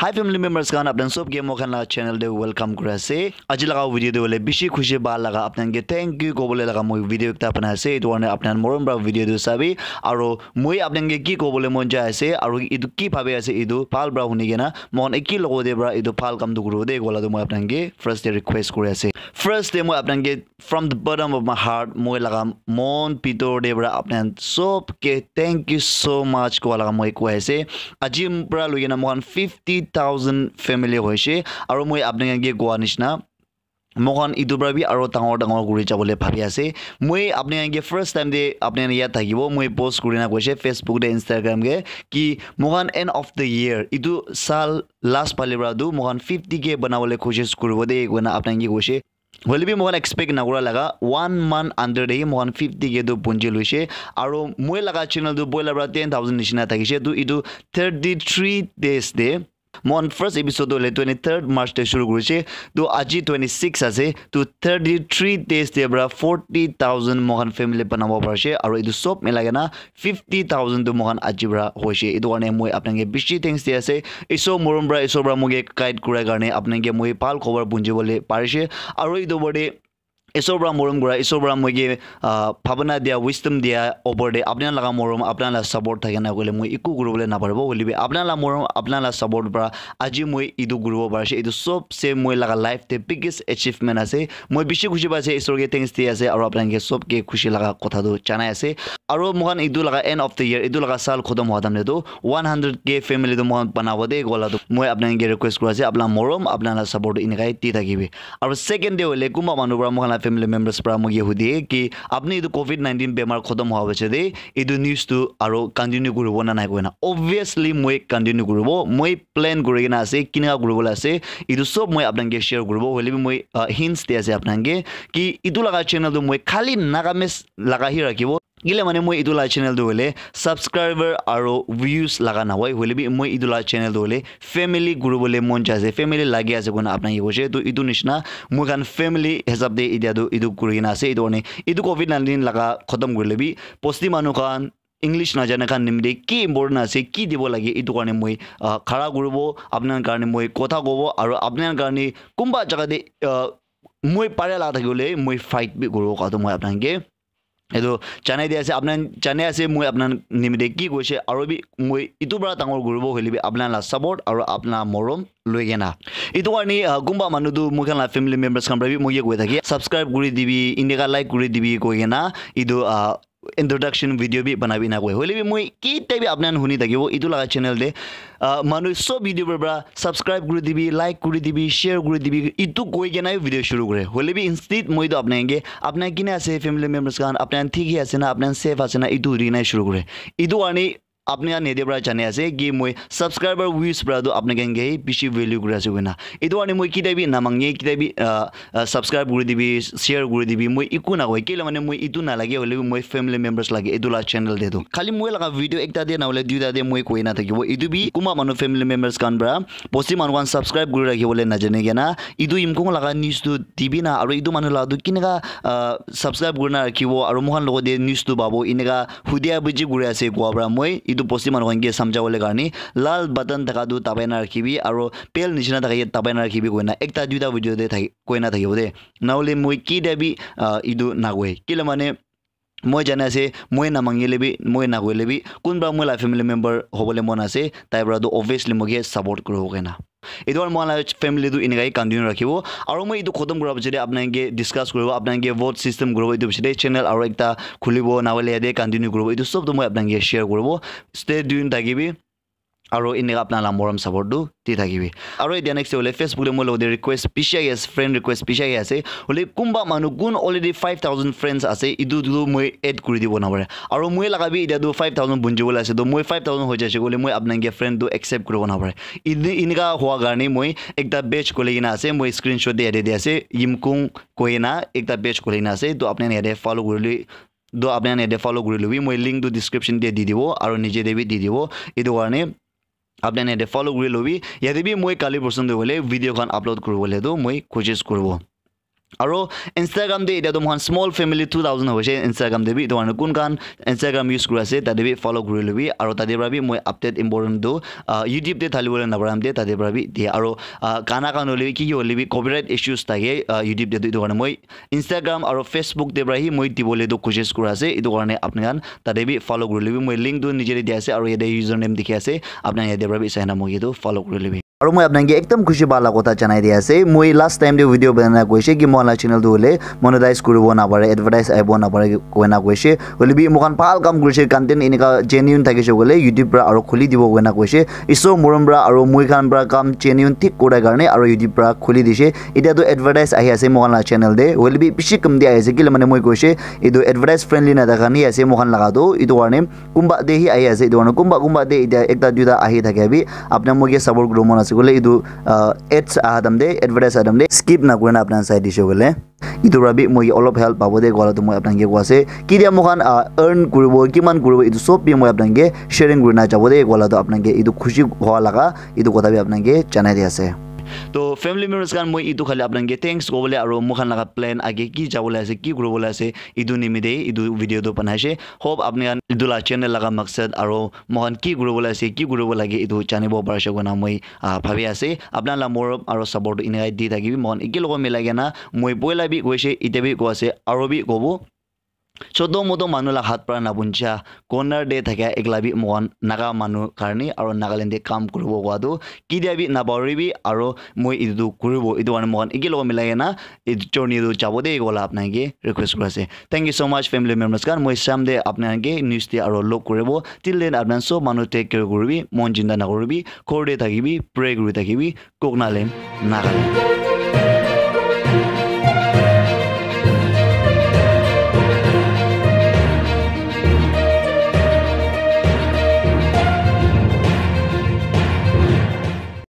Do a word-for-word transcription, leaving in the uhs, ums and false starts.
Hi family members khan, apnan sob ke moi khan la channel te welcome kuri ase. Aji laga video te hoile bishi khushi bhal laga apnan ke thank you kobole laga moi video ekta banai ase. Etu karne apnan morom para video tu sabi. Aro moi apnan ke ki kobole mon jai ase, aro etu ki bhabi ase, etu bhal para huni kena moi khan eki logo te para etu bhal kam tu kuribo de kola tu moi apnan ke first te request kuri ase. First te moi apnan ke from the bottom of my heart, moi laga mon pitor de para apnan sob ke thank you so much koa laga moi koi ase. Aji para loi kena moi khan fifty thousand family hoise, aro moi apnan ke koa nishna moi khan etu para bi aro dangor dangor kuri jabole bhabi ase. Moi apnan ke first time de apnan yat thakibo, moi post kuri na koise Facebook de, Instagram ke, ki moi khan end of the year, etu sal last phale para tu moi khan fifty K banabole koshish kuribo de koina apnan ke koise. Hoile bi moi khan expect nakura laga one month under de hi moi khan fifty K tu punji loise. Aro moi laga channel tu boila para ten thousand nishina thakise, tu etu thirty three days de moi khan first episode tu hoile twenty third March te shuru kurise, tu aji twenty six ase, tu thirty three days te para forty thousand moi khan family banabo parise, aro etu sob milai kena fifty thousand tu moi khan aji para hoise. Etu karne moi apnan ke bishi thanks di ase. Isor morom para, Isor para moi ke guide kurai karne apnan ke moi bhal khobor punji bole parise. Aro etu opor te Isor para morom kura, Isor para moi ke, ah, bhabana dia, wisdom dia opor te apnan laga morom, apnan la support thake na koile moi eku kuribole naparibo. Hoile bi apnan la morom, apnan la support para aji moi etu kuribo parise. Etu sob se moi laga life te biggest achievement ase. Moi bishi khushi paise, Isor ke thanks di ase, aro apnan ke sob ke khushi laga kotha tu janai ase. Aro moi khan etu laga end of the year, etu laga sal khotom hua time te tu one hundred K family tu moi khan banabo de kola tu moi apnan ke request kuri ase, apnan morom, apnan la support tu enika hi di thakibi. Aro second de hoile kunba manu para moi khan la family members para moi ke hudi ki apni etu covid nineteen bemar khotom hua piche de etu news tu aro continue kuribo na nai koina. Obviously moi continue kuribo, moi plan kuri kena ase, kinika kuribole ase, etu sob moi apnan ke share kuribo. Hoile bi moi, ah, hints di ase apnan ke ki etu laga channel tu moi khali Nagamese laga hi rakhibo. Kile mane moi etu la channel tu hoile subscriber aro views laga nahoi, hoile bi moi etu la channel tu hoile family kuribole mon jai ase, family lagi ase koina apna ke koise. Tu etu nishina moi khan family hisab te etia tu etu kuri kena ase. Etu karne etu covid nineteen laga khotom kurile bi bosti manu khan, English najana khan nimite ki important ase, ki dibo lage, etu karne moi, ah, khara kuribo, apna karne moi kotha kobo, aro apna karne kunba jaga te, ah, moi pare la thakile moi fight bi kuribo koa tu moi apna ke etu janai di ase, apna jane ase moi apna nimite ki koise, aro bi moi etu para dangor kuribo hoile bi apna la support aro apna morom loi kena. Etu karne, ah, kunba manu tu moi khan la family members khan para bi moi ye koi thake, subscribe kuri dibi, indika like kuri dibi koi kena etu, ah, introduction video bi banai bi na koi. Hoile bi moi kitia bi apna huni thakibo etu laga channel te, ah, manu sob video para subscribe kuri dibi, like kuri dibi, share kuri dibi, etu koi kena video shuru kore. Hoile bi instead moi tu apna ke, apna kine ase family members khan, apna thik hi ase na, apna safe ase na, etu hudi kena shuru kore. Etu karne apna nede para jane ase ki moi subscriber views para tu apna khan ke bishi value kuri ase koina. Etu karne moi kitia bi namange, kitia bi, ah, ah, subscribe kuri dibi, share kuri dibi, moi eku na koi. Kile mane moi etu na lage, hoile bi moi family members lage etu la channel te tu. Khali moi laga video ekta te na hoile duita te moi koi na thakibo. Etu bi kunba manu family members khan para bosti manu khan subscribe kuri rakhi bole na jane kena. Etu Yimkhiung laga news tu dibi na, aro etu manu la tu kineka, ah, subscribe kuri na rakhibo, aro moi khan logo te news tu pabo, eneka hudia buji kuri ase koa para moi etu bosti manu khan ke samjha bole karne lal button thaka tu dabai na rakhibi, aro bell nishina thaka ke dabai na rakhibi koina ekta duita video te thaki, koina thakibo de. Na hoile moi kitia bi, ah, etu na koi. Kile mane moi jane ase, moi na mangile bi, moi na koile bi, kunba moi la family member hobole mon ase, tai para tu obviously moi ke support kuribo koina. Etu karne moi la family tu eneka hi continue rakhibo. Aro moi etu khotom kura piche te apna ke discuss kuribo, apna ke vote system kuribo, etu piche te channel aro ekta khulibo, na hoile yate continue kuribo. Etu sob tu moi apna ke share kuribo. Stay tuned thakibi. Aro eneka apna la morom support tu di thakibi. Aro etia next te hoile Facebook te moi logo te request bishi ahi ase, friend request bishi ahi ase. Hoile kunba manu kun already five thousand friends ase, etu tu moi add kuri dibo na pare. Aro moi laga bi etia tu five thousand bunji bole ase, to moi five thousand hoi jaise koile moi apna ke friend tu accept kuribo na pare. Ene-, eneka hua karne moi ekta page khuli kena ase, moi screenshot de yate de ase, Yimkhiung koi kena ekta page khuli kena ase, to apna yate follow kuri le, to apna yate follow kuri lobi, moi link tu description te di dibo, aro niche te bi di dibo, etu karne apna yate follow kuri lobi. Yate bi moi kali porson te hoile video khan upload kuribole tu moi koshish kuribo. Aro Instagram te etia tu moikhan small family two thousand hoise Instagram te bi, etu karne kun khan Instagram use kuri ase tate bi follow kuri lobi. Aro tate para bi moi update important tu, ah, YouTube te thali bole naparam te tate para bi dia. Aro, ah, gana khan hole bi ki ki hole bi copyright issues thake, ah, YouTube te tu, etu karne moi Instagram aro Facebook te para hi moi dibole tu koshish kuri ase. Etu karne apni khan tate bi follow kuri lobi. Moi link tu niche te dia ase aro yate username dikhi ase. Apni khan yate para bi sai na moi etu follow kuri lobi. Aro moi apnanke ekdam khushi pa la kotha janai di ase. Moi last time te video banai na koise ki moikhan la channel tu hoile monetize kuribo napare, advertise ahibo napare koina koise. Hoile bi moikhan bhal kam kurise, content enika genuine thakise koile YouTube pra aro khuli dibo koina koise. Isor morom pra aro moi khan pra kam genuine thik kura karne aro YouTube pra khuli dise. Etia tu advertise ahi ase moikhan la channel te. Hoile bi bishi kam di ahi ase kile mane moi koise etu advertise friendly na thaka ni ase moikhan laga tu. Etu karne kunba te hi ahi ase, etu karne kunba kunba te etia ekta duita ahi thake bi apna moi ke support kuribo mon ase koile etu, ah, ads aha time te, advertise aha time te skip na kurina apna sai dise koile etu para bi moi ke olop help pabo de koila tu moi apna ke koi ase. Ketia moikhan, ah, earn kuribo, kiman kuribo, etu sob bi moi apna ke sharing kurina jabo de koila tu apna ke etu khushi hoa laga etu kotha bi apna ke janai di ase. To family members khan, moi etu khali apna ke thanks kobole aro moikhan laga plan age ki jabole ase, ki kuribole ase, etu nimite etu video tu banai ase. Hope apni khan etu la channel laga maksad aro moikhan ki kuribole ase, ki kuribo lage, etu janibo parise koina moi, ah, bhabi ase. Apna la morom aro support tu enika di thakibi. Moikhan eke logot milai kena moi poila bi koise, etia bi koi ase, aro bi kobo. Choto moto manu la hat para nabuncha, corner te thakia ekla bi moikhan Naga manu karne aro Nagaland te kam kuribo kowa tu ketia bi napahoribi aro moi etu tu kuribo, etu karne moikhan eke logot milai kena etu journey tu jabo de koila apna ke request kuri ase. Thank you so much family members khan. Moi sam de apna ke news de aro log kuribo. Till then apna sob manu take care kuribi, mon jinta nakuribi, ghor de thakibi, pray kuri thakibi. Koknaland, Nagaland.